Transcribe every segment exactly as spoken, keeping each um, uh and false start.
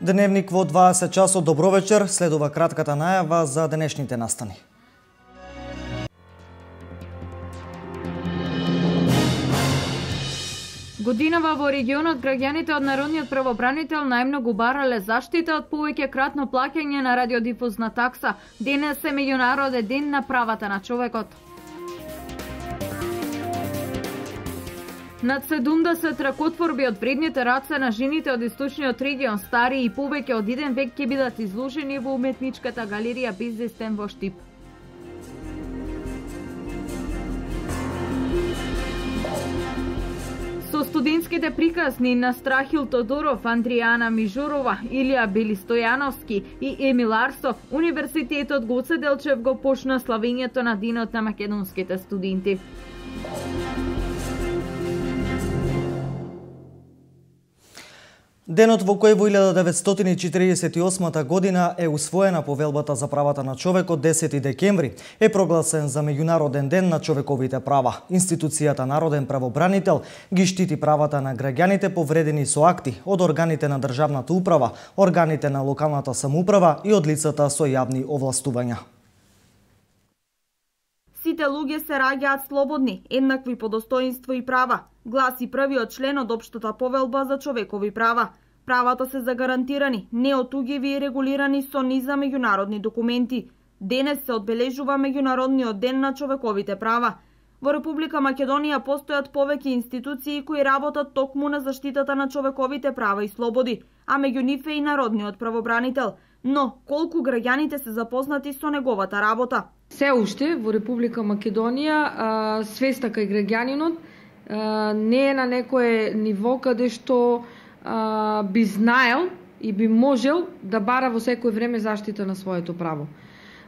Дневник во дваесет часот. Добро вечер, следува кратката најава за денешните настани. Годинава во регионот граѓаните од Народниот правобранител најмногу барале заштита од повеќе кратно плаќање на радиодифузна такса. Денес е меѓународен ден на правата на човекот. Над седумдесет ракотворби од вредните раце на жените од источниот регион, стари и повеќе од еден век, ќе бидат изложени во уметничката галерија Бездестен во Штип. Со студентските приказни на Страхил Тодоров, Андријана Мижурова, Илија Белистојановски и Емил Арсов, Универзитетот Гоце Делчев го почна славењето на Денот на македонските студенти. Денот во кој во илјада деветстотини и четиридесет и осма година е усвоена повелбата за правата на човекот, десети декември, е прогласен за меѓународен ден на човековите права. Институцијата Народен правобранител ги штити правата на граѓаните повредени со акти од органите на државната управа, органите на локалната самоуправа и од лицата со јавни овластувања. Сите луѓе се раѓаат слободни, еднакви по достоинство и права, гласи првиот член од Општата повелба за човекови права. Правата се загарантирани, неотугиви и регулирани со низа меѓународни документи. Денес се одбележува Меѓународниот ден на човековите права. Во Република Македонија постојат повеќе институции кои работат токму на заштитата на човековите права и слободи, а меѓу нив е и Народниот правобранител. Но, колку граѓаните се запознати со неговата работа? Се уште во Република Македонија свеста кај граѓанинот не е на некое ниво каде што а, би знаел и би можел да бара во секое време заштита на своето право.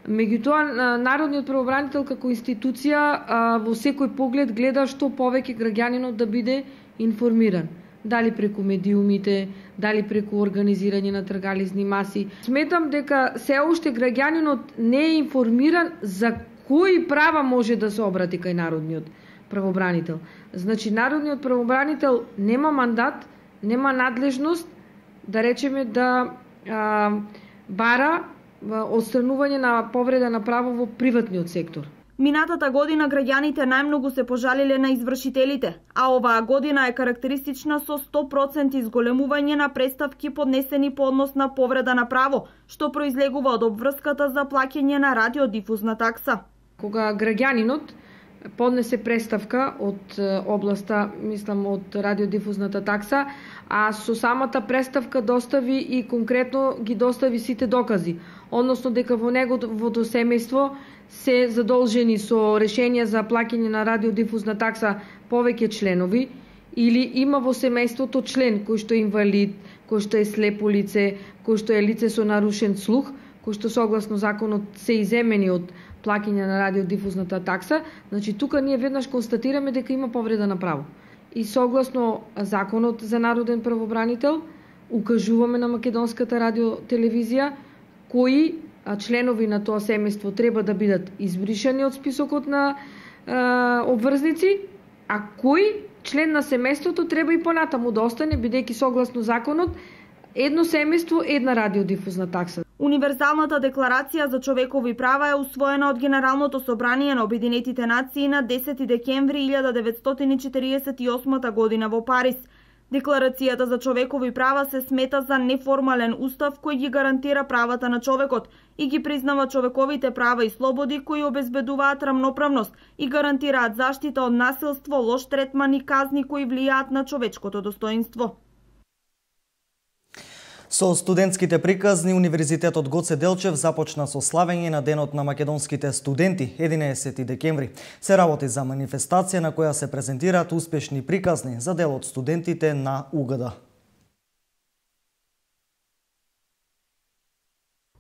Меѓутоа, Народниот правобранител како институција а, во секој поглед гледа што повеќе граѓанинот да биде информиран. Дали преку медиумите, дали преку организирање на тргализни маси. Сметам дека се уште граѓанинот не е информиран за кои права може да се обрати кај Народниот правобранител. Значи, Народниот правобранител нема мандат, нема надлежност, да речеме, да а, бара отстранување на повреда на право во приватниот сектор. Минатата година граѓаните најмногу се пожалиле на извршителите, а оваа година е карактеристична со сто проценти изголемување на преставки поднесени по однос на повреда на право, што произлегува од обврската за плаќање на радиодифузна такса. Кога граѓанинот поднесе преставка од областа, мислам, од радиодифузната такса, а со самата преставка достави и конкретно ги достави сите докази, односно дека во неговото семејство се задолжени со решение за плаќање на радиодифузна такса повеќе членови, или има во семејството член кој што е инвалид, кој што е слепо лице, кој што е лице со нарушен слух, кој што согласно законот се иземени од плаќање на радиодифузната такса. Значи, тука ние веднаш констатираме дека има повреда на право. И согласно законот за Народен правобранител, укажуваме на македонската радиотелевизија кои членови на тоа семејство треба да бидат избришани од списокот на е, обврзници, а кој член на семејството треба и понатаму да остане, бидејќи согласно законот едно семејство, една радиодифузна такса. Универзалната декларација за човекови права е усвоена од Генералното собрание на Обединетите нации на десети декември илјада деветстотини и четиридесет и осма година во Париз. Декларацијата за човекови права се смета за неформален устав кој ги гарантира правата на човекот и ги признава човековите права и слободи кои обезбедуваат рамноправност и гарантираат заштита од насилство, лош третман и казни кои влијаат на човечкото достоинство. Со студентските приказни, Универзитетот Гоце Делчев започна со славење на Денот на македонските студенти, единаесети декември. Се работи за манифестација на која се презентираат успешни приказни за дел од студентите на У Г Д.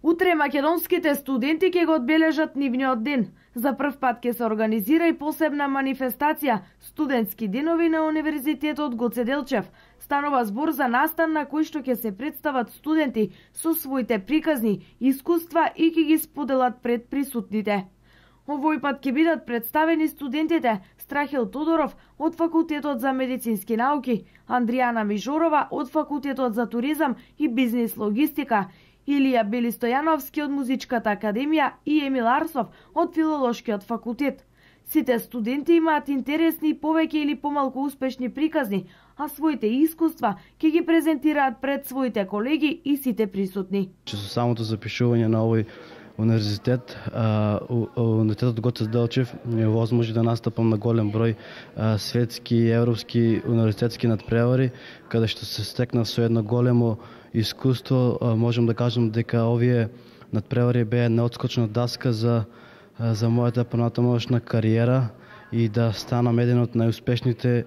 Утре македонските студенти ќе го одбележат нивниот ден. За прв пат ќе се организира и посебна манифестација Студентски денови на Универзитетот Гоце Делчев. Станува збор за настан на кој што ќе се представат студенти со своите приказни, искуства и ќе ги споделат пред присутните. Овој пат ќе бидат представени студентите, Страхил Тодоров од Факултетот за медицински науки, Андријана Мижорова од Факултетот за туризам и бизнис логистика, Илија Белистојановски од Музичката академија и Емил Арсов од Филолошкиот факултет. Сите студенти имаат интересни и повеќе или помалку успешни приказни, а своите искуства ќе ги презентираат пред своите колеги и сите присутни. Со самото запишување на овој универзитет, универзитетот Гоце Делчев ми овозможи да настапам на голем број светски и европски универзитетски надпревари, каде што се стекна со едно големо искуство. Можам да кажам дека овие надпревари беа неотскочна даска за за мојата понатамошна кариера и да станам еден од најуспешните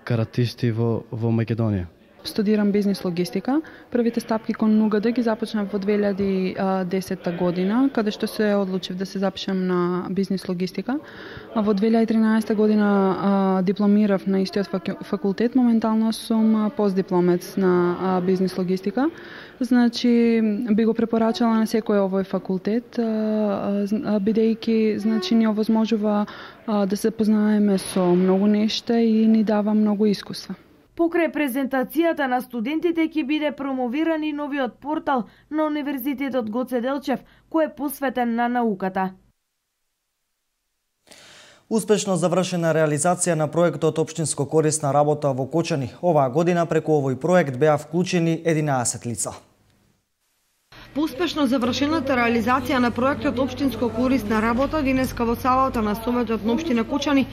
каратисти во во Македонија. Студирам бизнис логистика. Првите стапки кон НУГД ги започнав во две илјади и десета година, каде што се одлучив да се запишам на бизнис логистика. А во две илјади и тринаесета година а, дипломирав на истиот факултет. Моментално сум постдипломец на а, бизнис логистика. Значи би го препорачала на секој овој факултет, а, а, бидејќи значи ни овозможува а, да се познаеме со многу нешта и ни дава многу искуства. Покрај презентацијата на студентите ќе биде промовиран и новиот портал на Универзитетот Гоце Делчев, кој е посветен на науката. Успешно завршена реализација на проектот Општинско корисна работа во Кочани. Оваа година преку овој проект беа вклучени единаесет лица. По успешно завршената реализација на проектот Општинско корисна работа денеска во салата на Советот на општина Кочани,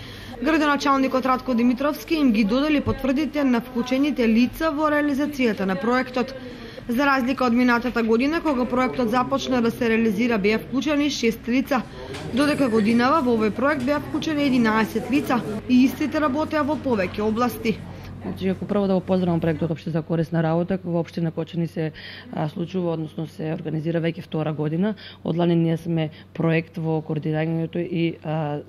градоначалникот Радко Димитровски им ги додели потврдите на вклучените лица во реализацијата на проектот. За разлика од минатата година, кога проектот започна да се реализира, беа вклучени шест лица, додека годинава во овој проект беа вклучени единаесет лица и истите работеа во повеќе области. Значи, ако прво да го поздравам проектот Општинска корисна работа, во општина Кочани се а, случува, односно се организира веќе втора година. Од лани ние сме проект во координирањето и а,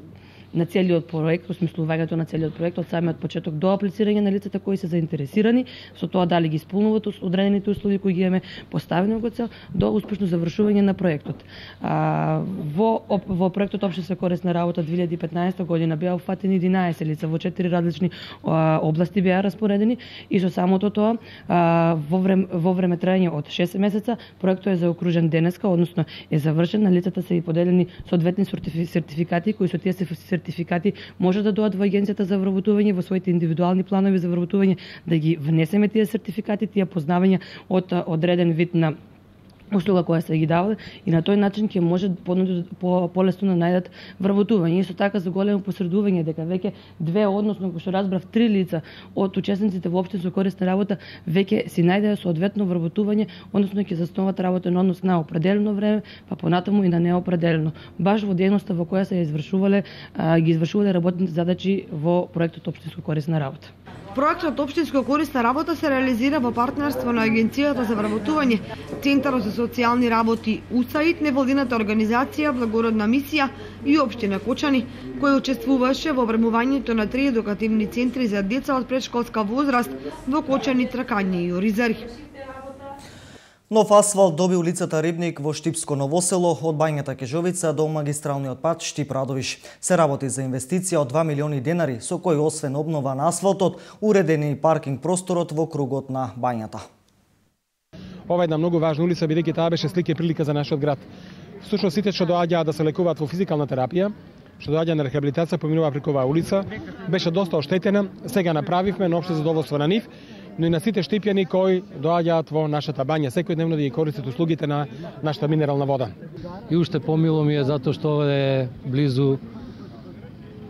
на целиот проект, осмислувањето на целиот проект од самиот почеток до аплицирање на лицата кои се заинтересирани, со тоа дали ги исполнуваат одредените услови кои ги имаме поставени во цел до успешно завршување на проектот. А, во во проектот Општинска корисна работа две илјади и петнаесета година беа уфатени единаесет лица во четири различни а, области беа распоредени и со самото тоа а, во време во време траење од шест месеца проектот е заокружен денеска, односно е завршен, на лицата се и поделени соодветни сертификати кои со тие се сертификати може да дојдат во агенцијата за вработување во своите индивидуални планови за вработување, да ги внесеме тие сертификати, тие познавања од одреден вид на услуга која се ги давале и на тој начин ќе може по полесно да најдат вработување. Исто така за големо посредување дека веќе две, односно како што разбрав три лица од учесниците во општинско корисна работа веќе си најдеа соодветно вработување, односно ќе заснуваат работен однос на определено време, па понатаму и на неопределено. Баш во дејноста во која се извршувале ги извршувале работните задачи во проектот Општинско корисна работа. Проектот Општинско корисна работа се реализира во партнерство на Агенцијата за вработување, Центарот за социјални работи УСАИД, невладината организација Благородна мисија и општина Кочани, кој учествуваше во обремувањето на три едукативни центри за деца од предшколска возраст во Кочани, Тракање и Оризари. Нов асфалт доби улицата Рибник во Штипско Новосело од Бањата Кежовица до магистралниот пат Штип-Радовиш. Се работи за инвестиција од два милиони денари, со кој освен обнова на асфалтот, уредени и паркинг просторот во кругот на Бањата. Ова е една многу важна улица, бидејќи таа беше слика и прилика за нашиот град. Всушност сите што доаѓаат да се лекуваат во физикална терапија, што доаѓа на рехабилитација, поминува преку оваа улица, беше доста оштетена. Сега направивме на општо задоволство на нив, но и на сите штипјани кои доаѓаат во нашата бања секојдневно да ги користат услугите на нашата минерална вода. И уште помило ми е затоа што е близу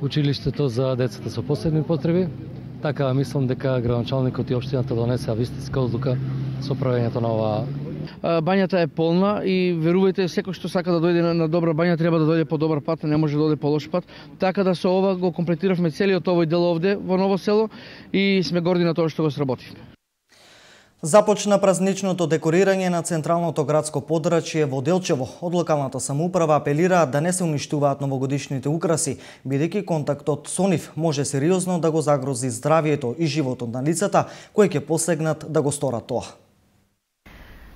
училиштето за децата со посебни потреби. Така мислам дека градоначалникот и општината донесеа вистинска одлука со правењето на оваа. Бањата е полна и верувајте, секој што сака да дојде на добра бања треба да дојде по добар пат, не може да дојде по лош пат. Така да со ова го комплетиравме целиот овој дел овде во Ново село и сме горди на тоа што го сработивме. Започна празничното декорирање на централното градско подрачје во Делчево. Од локалната самоуправа апелираат да не се уништуваат новогодишните украси, бидејќи контактот со нив може сериозно да го загрози здравието и животот на лицата кои ќе посегнат да го сторат тоа.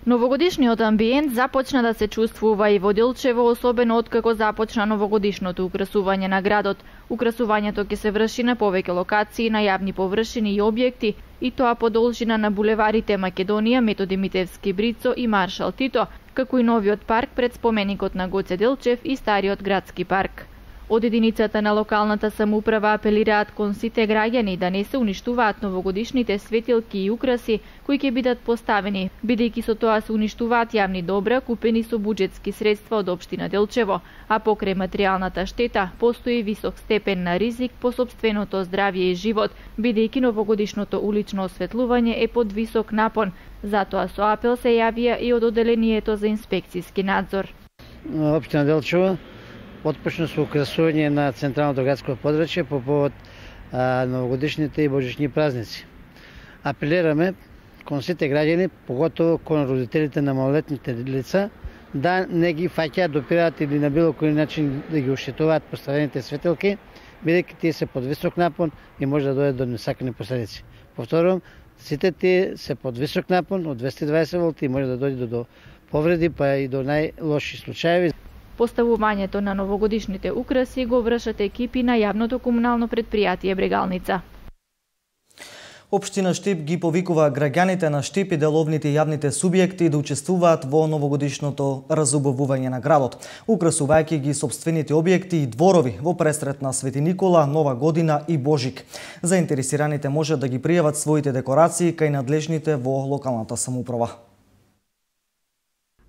Новогодишниот амбиент започна да се чувствува и во Делчево, особено откако започна новогодишното украсување на градот. Украсувањето ќе се врши на повеќе локации, на јавни површини и објекти, и тоа по должина на булеварите Македонија, Методи Митевски, Брицо и Маршал Тито, како и новиот парк пред споменикот на Гоце Делчев и стариот градски парк. Од единицата на локалната самоуправа апелираат кон сите граѓани да не се уништуваат новогодишните светилки и украси кои ќе бидат поставени, бидејќи со тоа се уништуваат јавни добра купени со буџетски средства од општина Делчево, а покрај материјалната штета постои висок степен на ризик по сопственото здравје и живот, бидејќи новогодишното улично осветлување е под висок напон. Затоа со апел се јавија и од одделението за инспекцијски надзор. Општина Делчево отпочна со украсување на централното градско подрачје по повод а, новогодишните и божични празници. Апелираме кон сите граѓани, поготово кон родителите на малолетните лица, да не ги фаќаат, допираат или на било кој начин да ги оштетуваат поставените светилки, бидејќи тие се под висок напон и може да дојдат до несакани последици. Повторувам, сите тие се под висок напон од двесте и дваесет волти и може да дојде до повреди, па и до најлоши случаеви. Поставувањето на новогодишните украси го вршат екипи на јавното комунално предпријатие Брегалница. Општина Штип ги повикува граѓаните на Штип и деловните јавните субјекти да учествуваат во новогодишното разубавување на градот, украсувајќи ги сопствените објекти и дворови во пресрет на Свети Никола, Нова година и Божик. Заинтересираните може да ги пријават своите декорации кај надлежните во локалната самоуправа.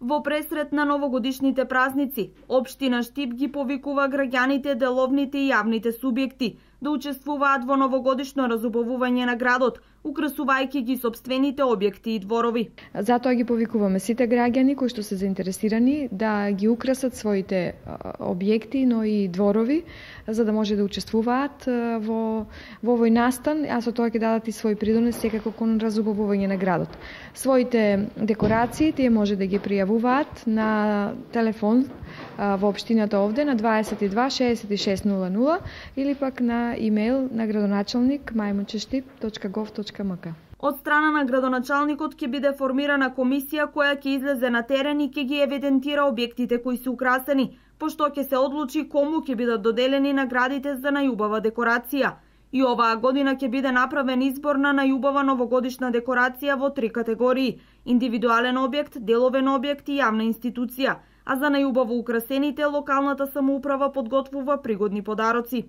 Во пресрет на новогодишните празници, општина Штип ги повикува граѓаните, деловните и јавните субјекти да учествуваат во новогодишно разубавување на градот, украсувајќи ги сопствените објекти и дворови. Затоа ги повикуваме сите граѓани кои што се заинтересирани да ги украсат своите објекти, но и дворови, за да може да учествуваат во, во овој настан, а со тоа ќе дадат и свој придонес секако кон разубавување на градот. Своите декорации тие може да ги пријавуваат на телефон во општината овде на дваесет и два шеесет и шест нула нула или пак на имејл на градоначалник мајмунчештип точка гов точка ем ка. Од страна на градоначалникот ќе биде формирана комисија која ќе излезе на терен и ќе ги евидентира објектите кои се украсени, пошто ќе се одлучи кому ќе бидат доделени наградите за најубава декорација. И оваа година ќе биде направен избор на најубава новогодишна декорација во три категории: индивидуален објект, деловен објект и јавна институција, а за најубаво украсените локалната самоуправа подготвува пригодни подароци.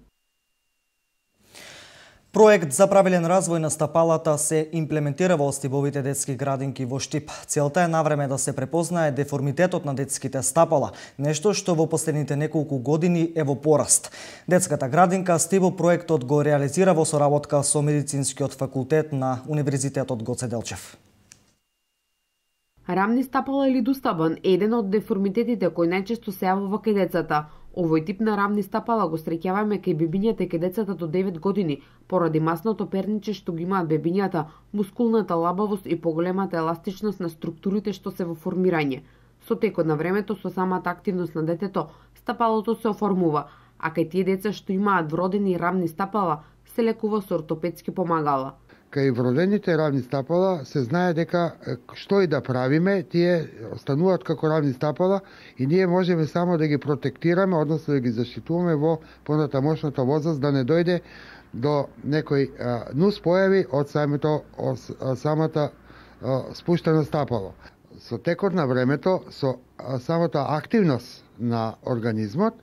Проект за правилен развој на стапалата се имплементира во Остибовите детски градинки во Штип. Целта е навреме да се препознае деформитетот на детските стапала, нешто што во последните неколку години е во пораст. Детската градинка Стибо проектот го реализира во соработка со Медицинскиот факултет на Универзитетот Гоце Делчев. Рамни стапала или дустабан е еден од деформитетите кој најчесто се јавува кај децата. Овој тип на рамни стапала го среќаваме кај бебињата и кај децата до девет години, поради масното перниче што ги имаат бебињата, мускулната лабавост и поголемата еластичност на структурите што се во формирање. Со текот на времето, со самата активност на детето, стапалото се оформува, а кај тие деца што имаат вродени рамни стапала, се лекува со ортопедски помагала. Кај вродените рамни стапала се знае дека што и да правиме, тие остануваат како рамни стапала и ние можеме само да ги протектираме, односно да ги заштитуваме во понатамошната возраст, да не дојде до некои а, нус појави од самото, од самата а, спуштена стапало. Со текот на времето, со а, самата активност на организмот,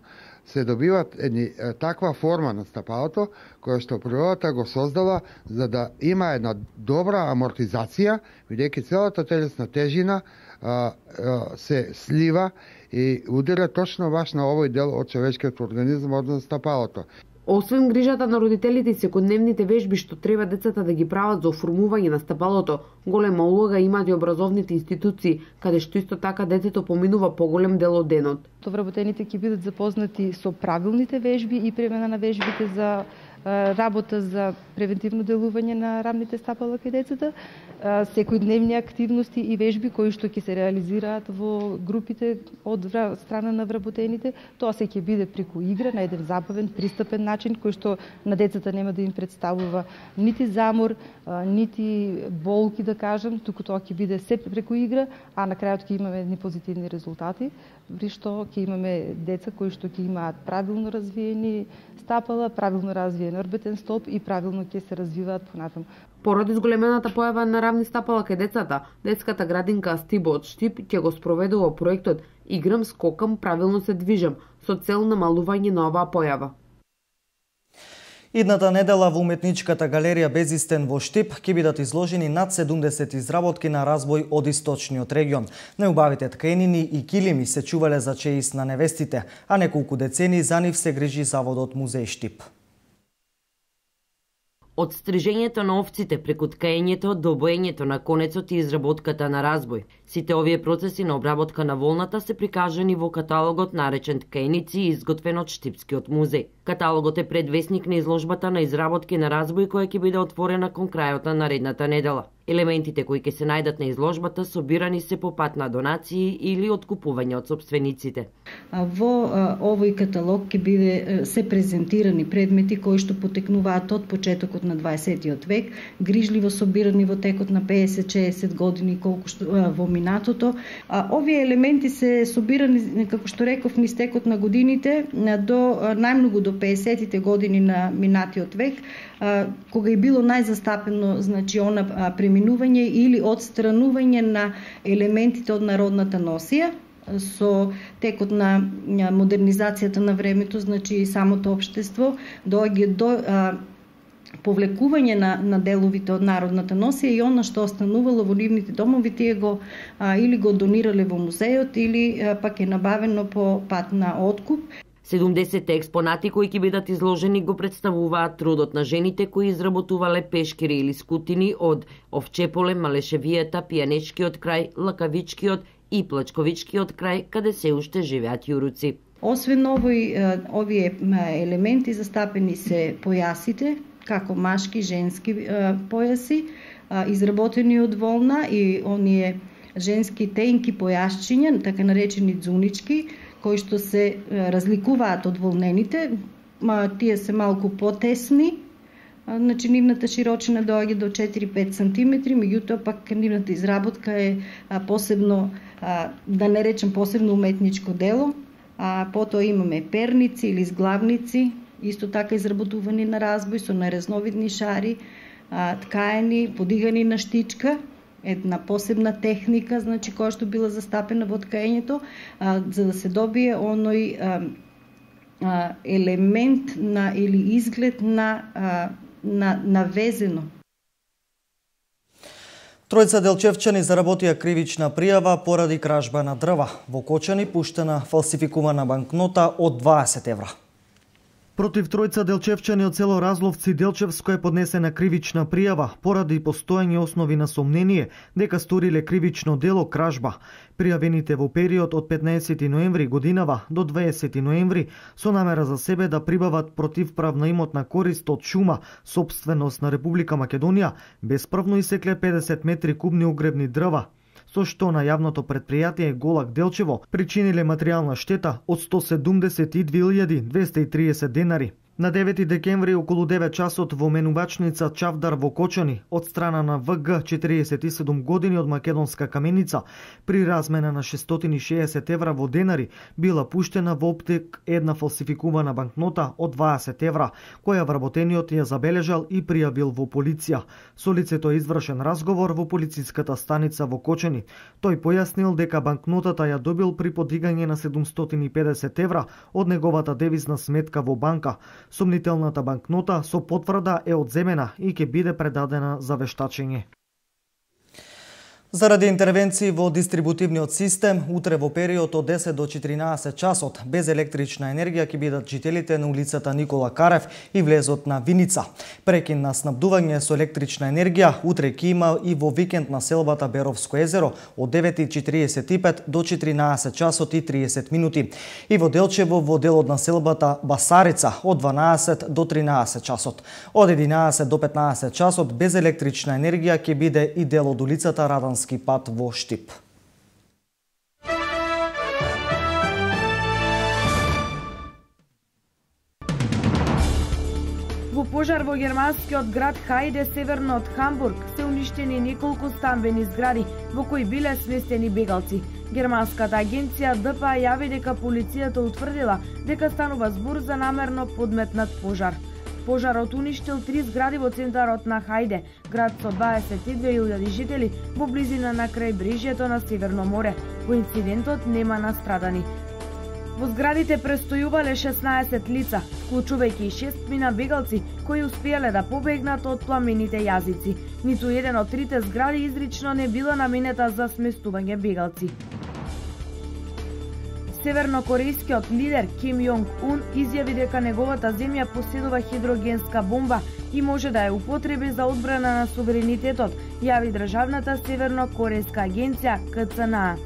се добиват едни таква форма на стапалото, која што природата го создала за да има една добра амортизација, бидејќи целата телесна тежина а, а, се слива и удира точно баш на овој дел од човечкиот организам, односно стапалото. Освен грижата на родителите и секојдневните вежби што треба децата да ги прават за оформување на стапалото, голема улога имаат и образовните институции, каде што исто така детето поминува поголем дел од денот. Вработените ќе бидат запознати со правилните вежби и премена на вежбите за работа за превентивно делување на рамните стапала кај децата, секојдневни активности и вежби кои што ќе се реализираат во групите од страна на вработените. Тоа се ќе биде преку игра на еден забавен, пристапен начин кој што на децата нема да им представува нити замор, нити болки да кажам, туку тоа ќе биде се преку игра, а на крајот ќе имаме едни позитивни резултати, при што ќе имаме деца кои што ќе имаат правилно развиени стапала, правилно развиен орбитен столб и правилно ќе се развиваат понатаму. Поради зголемената појава на рамни стапала кај децата, детската градинка Стибо од Штип ќе го спроведува проектот Играм, скокам, правилно се движам, со цел намалување на оваа појава. Идната недела во уметничката галерија Безистен во Штип ќе бидат изложени над седумдесет изработки на разбој од источниот регион. Најубавите тканини и килими се чувале за чеист на невестите, а неколку децени за нив се грижи заводот Музеј Штип. Од стрижењето на овците преку ткаењето до боењето на конецот и изработката на разбој. Сите овие процеси на обработка на волната се прикажани во каталогот наречен Ткаеници, изготвен од Штипскиот музеј. Каталогот е предвесник на изложбата на изработки на разбој која ќе биде отворена кон крајот на наредната недела. Елементите кои ќе се најдат на изложбата собирани се по пат на донации или откупување од сопствениците. Во овој каталог ќе биде се презентирани предмети кои што потекнуваат од почетокот на дваесеттиот век, грижливо собирани во текот на песет-шеесет години колку што во минатото. Овие елементи се собирани, како што реков, низ текот на годините до најмногу до песетите години на минатиот век, кога е било најзастапено, значи, она преминување или отстранување на елементите од народната носија. Со текот на модернизацијата на времето, значи самото општество доаѓа до а, повлекување на, на деловите од народната носија и она што останувало во нивните домови, тие го а, или го донирале во музејот или а, пак е набавено по пат на откуп. седумдесет експонати кои ќе бидат изложени го представуваат трудот на жените кои изработувале пешкири или скутини од овчеполе, малешевијата, пијанечкиот крај, лакавичкиот и плачковичкиот крај, каде се уште живеат јуруци. Освен овој, овие елементи застапени се појасите, како машки, женски појаси, изработени од волна и оние женски тенки појасчиња, така наречени дзунички, кои што се разликуваат од волнените, тие се малку потесни, значи нивната широчина доаѓа до четири-пет сантиметри, меѓутоа пак нивната изработка е посебно, да не речем посебно уметничко дело, а потоа имаме перници или зглавници, исто така изработувани на разбој со наразновидни шари, ткаени, подигани на штичка, една посебна техника, значи која што била застапена во ткаењето, а, за да се добие оној а, а, елемент на или изглед на а, на навезено. Тројца делчевчани заработија кривична пријава поради кражба на дрва. Во Кочани пуштена фалсификувана банкнота од дваесет евра. Против тројца делчевчани од село Разловци Делчевско е поднесена кривична пријава поради постоење основи на сомнение дека сториле кривично дело кражба. Пријавените во период од петнаесети ноември годинава до дваесети ноември со намера за себе да прибават противправна имотна корист од шума, сопственост на Република Македонија, бесправно исекле педесет метри кубни угребни дрва, со што на јавното предпријатие Голак Делчево причиниле материјална штета од сто седумдесет и две илјади двесте и триесет денари. На девети декември околу девет часот во менувачница Чавдар во Кочани од страна на В Г четириесет и седум години од Македонска каменица при размена на шестстотини и шеесет евра во денари била пуштена во оптек една фалсификувана банкнота од дваесет евра, која вработениот ја забележал и пријавил во полиција. Со лицето е извршен разговор во полициската станица во Кочани. Тој појаснил дека банкнотата ја добил при подигање на седумстотини и педесет евра од неговата девизна сметка во банка. Сомнителната банкнота со потврда е одземена и ќе биде предадена за вештачење. Заради интервенции во дистрибутивниот систем, утре во период од десет до четиринаесет часот, без електрична енергија ќе бидат жителите на улицата Никола Карев и влезот на Виница. Прекин на снабдување со електрична енергија утре ќе има и во викенд на селбата Беровско езеро од девет и четиридесет и пет до четиринаесет часот и тридесет минути. И во Делчево во делот на селбата Басарица од дванаесет до тринаесет часот. Од единаесет до петнаесет часот без електрична енергија ќе биде и дел од улицата Радански пат во Штип. Во пожар во германскиот град Хајде, северно од Хамбург, се уништени неколку стамбени згради во кои биле сместени бегалци. Германската агенција Д П А јави дека полицијата утврдила дека станува збор за намерно подметнат пожар. Пожарот уништил три згради во центарот на Хајде, град со дваесет и две илјади жители во близина на крајбрежјето на Северно море. Во инцидентот нема настрадани. Во зградите престојувале шеснаесет лица, вклучувајќи и шестмина бегалци кои успеале да побегнат од пламените јазици. Ниту еден од трите згради изрично не била наменета за сместување бегалци. Севернокорејскиот лидер Ким Јонг Ун изјави дека неговата земја поседува хидрогенска бомба и може да ја употреби за одбрана на суверенитетот, јави државната севернокорејска агенција К Ц Н А.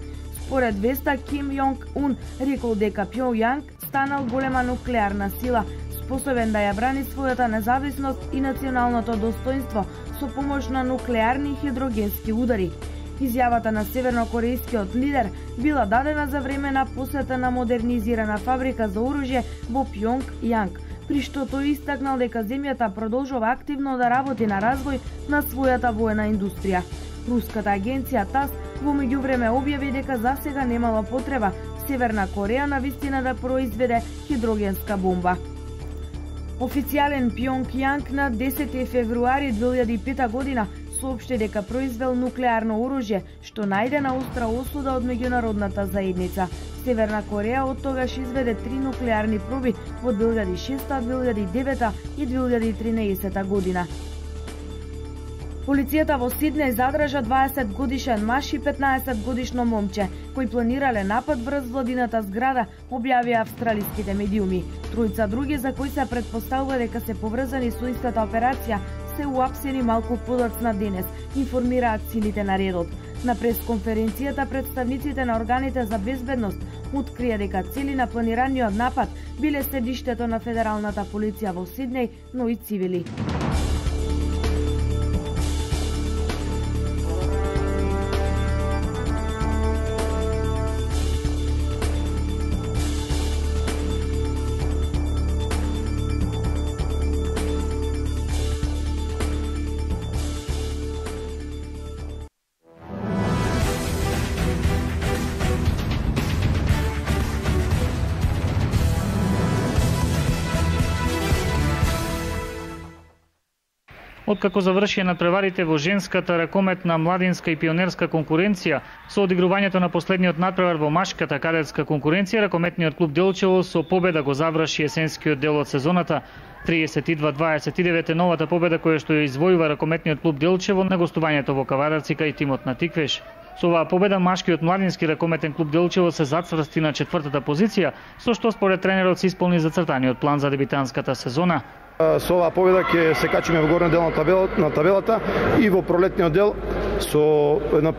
Според веста, Ким Јонг Ун рекол дека Пјонјанг станал голема нуклеарна сила, способен да ја брани својата независност и националното достоинство со помош на нуклеарни хидрогенски удари. Изјавата на севернокорејскиот лидер била дадена за време на посета на модернизирана фабрика за оружје во Пјонјанг, при што тој истакнал дека земјата продолжува активно да работи на развој на својата воена индустрија. Руската агенција ТАСС во меѓувреме објави дека засега немала потреба Северна Кореја навистина да произведе хидрогенска бомба. Официјален Пјонјанг на десети февруари две илјади и пета година соопшти дека произвел нуклеарно оружје, што најде на остра осуда од меѓународната заедница. Северна Кореја од тогаш изведе три нуклеарни проби во две илјади и шеста, две илјади и девета и две илјади и тринаесета година. Полицијата во Сиднеј задржа дваесет годишен маж и петнаесет годишно момче, кои планирале напад врз владината зграда, објавија австралиските медиуми. Тројца други за кои се претпоставува дека се поврзани со истата операција се уапсени малку подоцна денес, информираат силите на редот. На пресконференцијата представниците на органите за безбедност открија дека цели на планираниот напад биле седиштето на федералната полиција во Сиднеј, но и цивили. Откако завршија надпреварите во женската ракометна, младинска и пионерска конкуренција, со одигрувањето на последниот надпревар во машката кадетска конкуренција, ракометниот клуб Делчево со победа го заврши есенскиот дел од сезоната. триесет и два дваесет и девет е новата победа која што ја извојува ракометниот клуб Делчево на гостувањето во Каварарцика и тимот на Тиквеш. Со оваа победа машкиот младински ракометен клуб Делчево се зацврсти на четвртата позиција, со што според тренерот се исполни зацртаниот план за дебитанската сезона. Со оваа победа ќе се качиме во горниот дел на табелата, на табелата и во пролетниот дел со една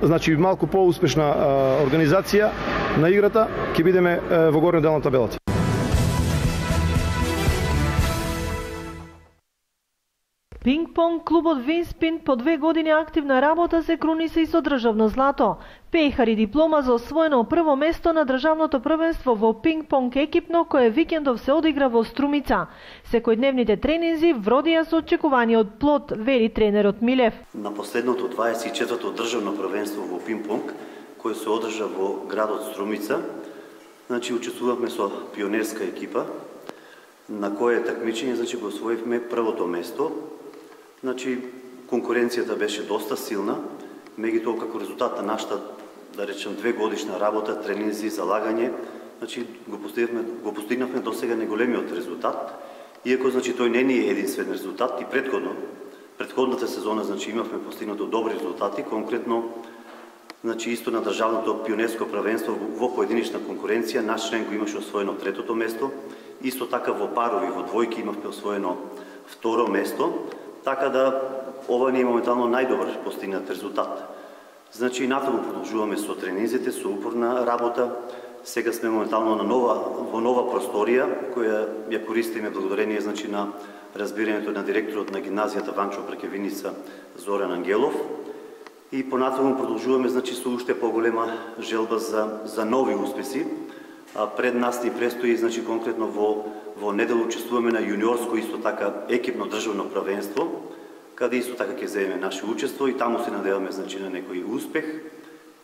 значи малку поуспешна организација на играта ќе бидеме во горниот дел на табелата. Пинг-понг клубот Винспин по две години активна работа се круни се и со државно злато. Пејхари диплома за освоено прво место на државното првенство во пинг-понг екипно кое викендов се одигра во Струмица. Секојдневните тренинзи вродија со очекуваниот плод, вели тренерот Милев. На последното дваесет и четврто државно првенство во пинг-понг, кое се одржа во градот Струмица, значи учествувавме со пионерска екипа, на кое такмичење значи го освоивме првото место. Значи, конкуренцијата беше доста силна, меѓутоа како резултат на нашата, да речем, две годишна работа, тренинзи, залагање, значи го постигнавме, го постигнавме досега неголемиот резултат, иако значи тој не ни е единствен резултат и претходно Предходната сезона, значи, имавме постигнато добри резултати, конкретно, значи, исто на државното пионерско првенство во поединична конкуренција, наш член го имаше освоено третото место, исто така во парови, во двојки имавме освоено второ место, така да ова не е моментално најдобар постигнат резултат. Значи, натаму продолжуваме со тренинзите, со упорна работа. Сега сме моментално на нова, во нова просторија, која ја користиме благодарение, значи, на разбирањето на директорот на гимназијата Ванчо Прекевиница Зоран Ангелов. И понатаму продолжуваме, значи, со уште поголема желба за, за нови успеси. А пред нас ни престои, значи, конкретно во, во недел учествуваме на јуниорско, исто така, екипно државно првенство, каде исто така ќе земеме наше учество и таму се надеваме, значи, на некој успех.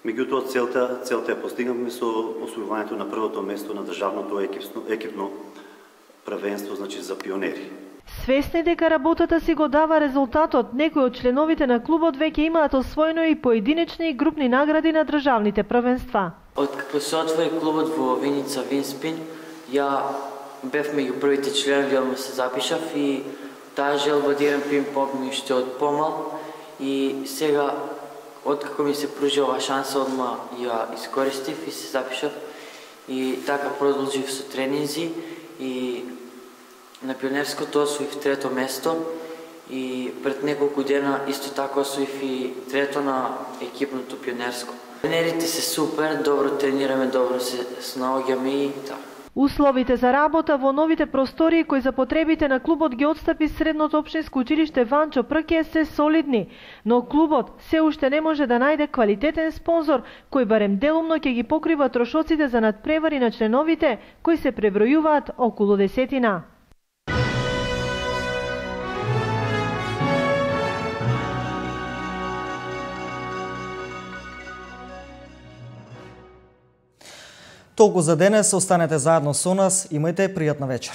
Меѓутоа, целта, целта ја постигнавме со освојувањето на првото место на државното екипно, екипно првенство, значи, за пионери. Свесни дека работата си го дава резултатот, некои од членовите на клубот веќе имаат освоено и поединечни и групни награди на државните првенства. Откако се отвори клубот во Виница Винспин, ја бев меѓу првите членови, одма се запишав и таа желба да имам пинг-понг ми уште од помал и сега откако ми се пружи ова шанса, одма ја искористив и се запишав и така продолжив со тренинзи и на пионерското освоив трето место и пред неколку дена исто така освоив и трето на екипното пионерско. Тренерите се супер, добро тренираме, добро се снаоѓаме и така. Условите за работа во новите простории кои за потребите на клубот ги отстапи средното општинско училиште Ванчо Прке се солидни, но клубот се уште не може да најде квалитетен спонзор кој барем делумно ќе ги покрива трошоците за надпревари на членовите кои се пребројуваат околу десетина. Толку за денес, останете заедно со нас, имајте пријатна вечер.